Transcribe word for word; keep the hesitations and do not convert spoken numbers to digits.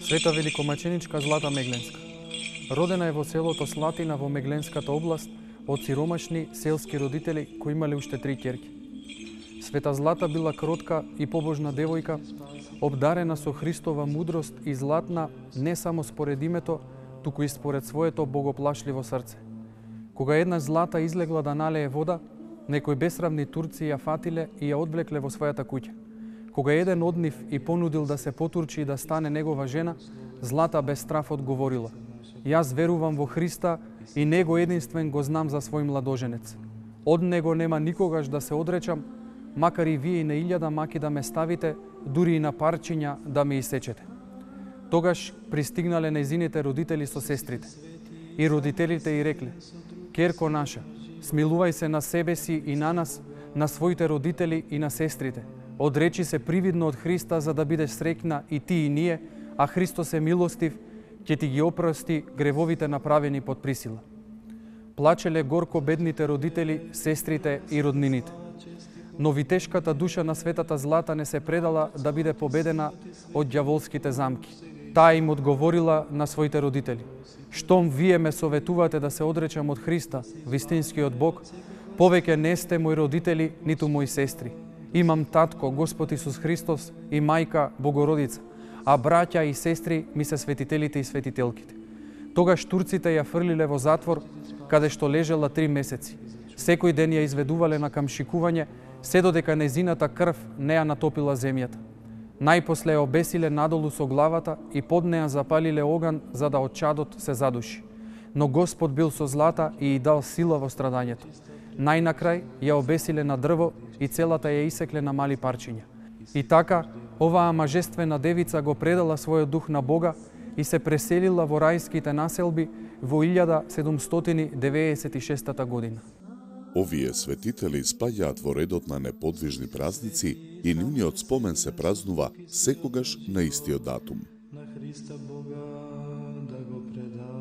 Света великомаченичка Злата Мегленска. Родена е во селото Слатина во Мегленската област од сиромашни селски родители кои имале уште три ќерки. Света Злата била кротка и побожна девојка, обдарена со Христова мудрост и златна не само според името, туку и според своето богоплашливо срце. Кога една Злата излегла да налее вода, некои бесравни турци ја фатиле и ја одвлекле во својата куќа. Кога еден од нив и понудил да се потурчи и да стане негова жена, Злата без страф одговорила: "Јас верувам во Христа и Него единствен го знам за свој младоженец. Од Него нема никогаш да се одречам, макар и вие и на илјада маки да ме ставите, дури и на парчиња да ме исечете." Тогаш пристигнале нејзините родители со сестрите. И родителите и рекле: "Ќерко наша, смилувај се на себе си и на нас, на своите родители и на сестрите. Одречи се привидно од Христа за да бидеш среќна и ти и ние, а Христос е милостив, ќе ти ги опрости гревовите направени под присила." Плачеле горко бедните родители, сестрите и роднините. Но витешката душа на Светата Злата не се предала да биде победена од ѓаволските замки. Таа им одговорила на своите родители: "Штом вие ме советувате да се одречам од Христа, вистинскиот Бог, повеќе не сте мои родители, ниту мои сестри. Имам татко, Господ Исус Христос, и мајка, Богородица, а браќа и сестри ми се светителите и светителките." Тогаш турците ја фрлиле во затвор, каде што лежела три месеци. Секој ден ја изведувале на камшикување, се додека нејзината крв не ја натопила земјата. Најпосле ја обесиле надолу со главата и под неја запалиле оган за да од чадот се задуши. Но Господ бил со Злата и ја дал сила во страдањето. Најнакрај ја обесиле на дрво и целата ја исекле на мали парчиња. И така, оваа мажествена девица го предала својот дух на Бога и се преселила во рајските населби во илјада седумстотини деветдесет и шеста година. Овие светители спаѓаат во редот на неподвижни празници и нивниот спомен се празнува секогаш на истиот датум. На Христа Бога да го предам.